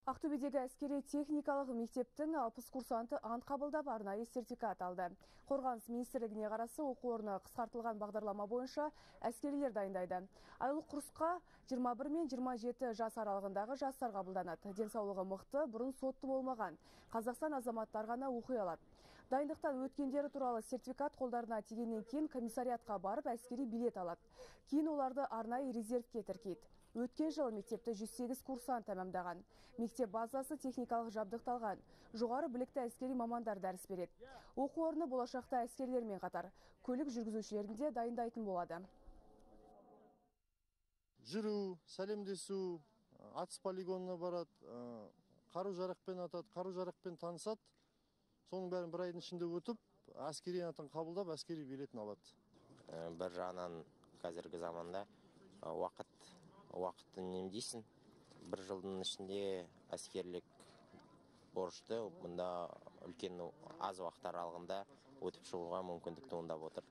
Ақтөбедегі әскери техникалық мектептің 60 курсанты ант қабылдап арнайы сертификат алды. Қорғаныс министрлігіне қарасы оқу орны қысқартылған бағдарлама бойынша әскерилер дайындайды. Айлық курсқа 21 мен 27 жас аралығындағы жастар қабылданады. Денсаулығы мықты, бұрын сотты болмаған Қазақстан азаматтар ғана оқи алады. Дайындықтан өткендері туралы сертификат қолдарына тигеннен кейін комиссариатқа барып әскери билет алады. Кейін оларды арнайы резервке тіркейді. Өткен жылы мектепті 108 курсант тәмамдаған. Мектеп базасы техникалық жабдықталған. Жоғары білікті әскери мамандар дәріс береді. Оқу орны болашақта әскерлермен қатар көлік жүргізушілерін де дайындайтын болады. Жүру, сәлемдесу, атыс полигонына барады, қару-жарақпен атады, қару-жарақпен танысады. Соның бәрін бір айдың ішінде өтіп, әскери атын қабылдап, әскери билетін алады. Бір жағынан қазіргі заманда уақытты үнемдейсің. Бір жылдың ішінде әскерлік борышты мұнда үлкен аз уақыт аралығында өтіп шығуға мүмкіндік туындап отыр.